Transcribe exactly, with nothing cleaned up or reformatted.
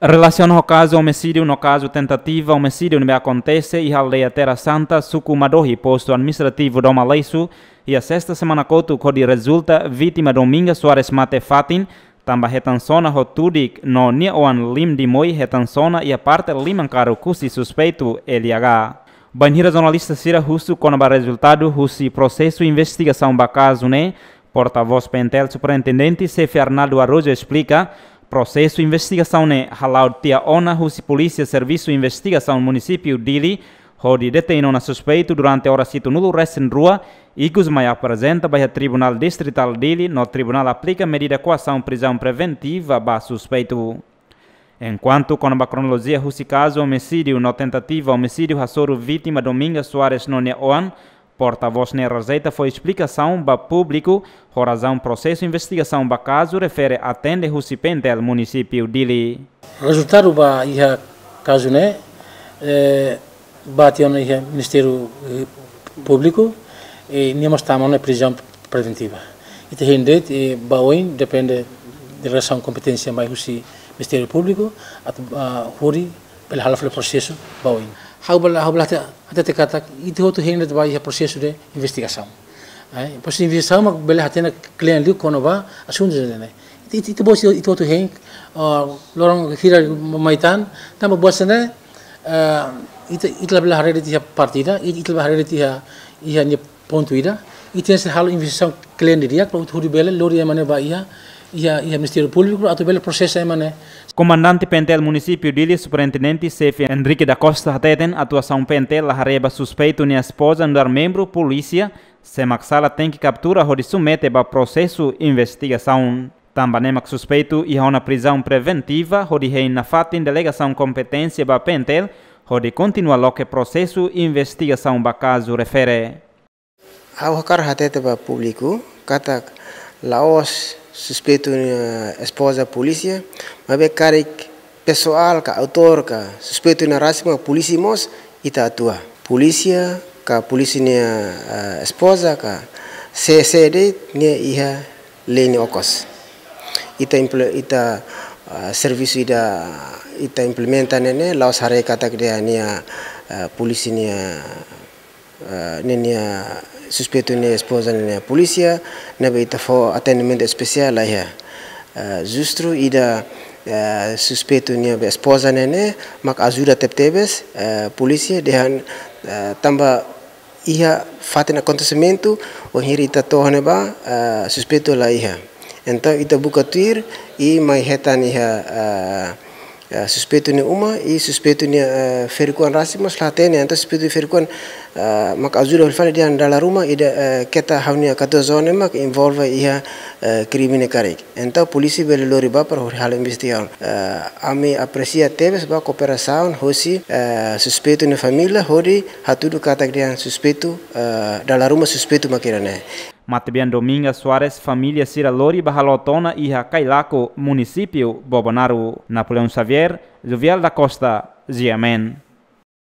Relasiona ho kazu omisídiu no kazu tentativa omisídiu ne'ebé akontese iha aldeia Terra Santa, suku Madohi, postu administrativu Doma Leisu, iha sesta semana kotuk hodi rezulta vítima Dominga Soares mate fatin, tanba hetan sona ho tudik no nia oan Lim Dimoi hetan sona iha parte liman karuk husi suspeitu L H. Bainhira jornalista sira husu kona-ba rezultadu husi prosesu investigasaun ba kazu ne'e, portavós PNTL Superintendente Xefe Arnaldo Araújo esplika, prosesu investigasaun ne'e hala'o tiha ona husi Polísia Servisu Investigasaun Munisípiu Dili, hodi detein ona suspeitu durante oras hitunulu resin rua, ikus mai aprezenta ba iha Tribunál Distritál Dili no tribunál aplika medida koasaun prizaun preventiva ba suspeitu. Enkuantu kona-ba kronolojia husi kazu omisídiu no tentativa omisídiu hasoru vítima Dominga Soares no nia oan, portavós ne'e rejeita fó esplikasaun ba públiku ho razaun prosesu investigasaun ba kazu refere atende husi PNTL Munisípiu Dili. Rezultadu ba iha kazu ne'e, eh, ba tiha ona iha Ministériu, eh, Públiku, eh, nia mós tama ona prizaun preventiva. Ita hein de'it, eh, ba oin depende de relasaun kompeténsia mai husi Ministériu Públiku atu, ah, hodi bele hala'o fali prosesu ba oin. Ha'u bele, ha'u bele hatete, hatete katak ita hotu hein de'it ba iha prosesu de investigasaun. Eh, prosesu de investigasaun mak bele hatene kle'an liu kona-ba asuntu ne'e. Ita, ita, ita-boot ita hotu hein, ah, loron hira mai tan, tanba buat sira ne'e, ah, ita, ita labele haree de'it iha parte ida, ita, ita labele haree de'it iha, iha nia pontu ida, ita tenke halo investigasaun kle'an didi'ak, para ita hodi bele lori ema ne'e ba iha, iha, iha Ministériu Públiku, atu bele prosesa ema ne'e. Komandante PNTL Munisípiu Dili, Superintendente Xefe Henrique da Costa hateten, atuasaun PNTL la haree ba suspeitu nia espoza nu'udar membru polísia, se mak sala tenke kaptura hodi submete ba prosesu investigasaun. Tanba ne'e mak suspeitu iha ona prizaun preventiva hodi hein nafatin delegasaun kompeténsia ba PNTL hodi kontinua loke prosesu investigasaun ba kazu refere. Ha'u hakarak hatete ba públiku katak la'ós suspeitu nia espoza polísia, maibé karik pesoál ka autór ka suspeitu nia rasik mak polísia mós ita atua. Polísia ka polísia nia, eh, espoza ka sé-sé de'it nia iha lei nia okos. Ita imple-, ita, eh, servisu ida ita implementa ne'e ne'e la'ós haree katak nia, eh, polísia nia, eh, nia, nia suspeitu nia espoza nia polísia, ne'ebé ita fó atendimentu espesiál laiha. Eh, justu ida, eh, suspeitu nia be espoza ne'e ne'e mak ajuda tebetebes, eh, polísia dehan, eh, tanba iha fatin akontesimentu, wainhira ita to'o ne'ebá, eh, suspeitu laiha. Entaun ita buka tuir i mai hetan iha, eh, eh, suspeitu nia uma, i suspeitu nia, eh, ferik-oan rasik mós la hatene, entaun suspeitu ferik-oan, eh, mak ajuda fali dehan dala ruma ida, eh, keta ha'u-nia katuas-oan ne'e mak envolve iha, eh, krime ne'e karik. Entaun polísia bele lori bá para hodi halo investigasaun. Eh, ami apresia tebes ba kooperasaun hosi, eh, suspeitu nia família hodi hatudu katak dehan suspeitu, eh, dala ruma suspeitu mak ida-ne'e. Matebian Dominga Soares família sira lori ba haloot ona iha Cailaco, Munisípiu Bobonaro. Napoleão Xavier, Jovial da Costa, G M N.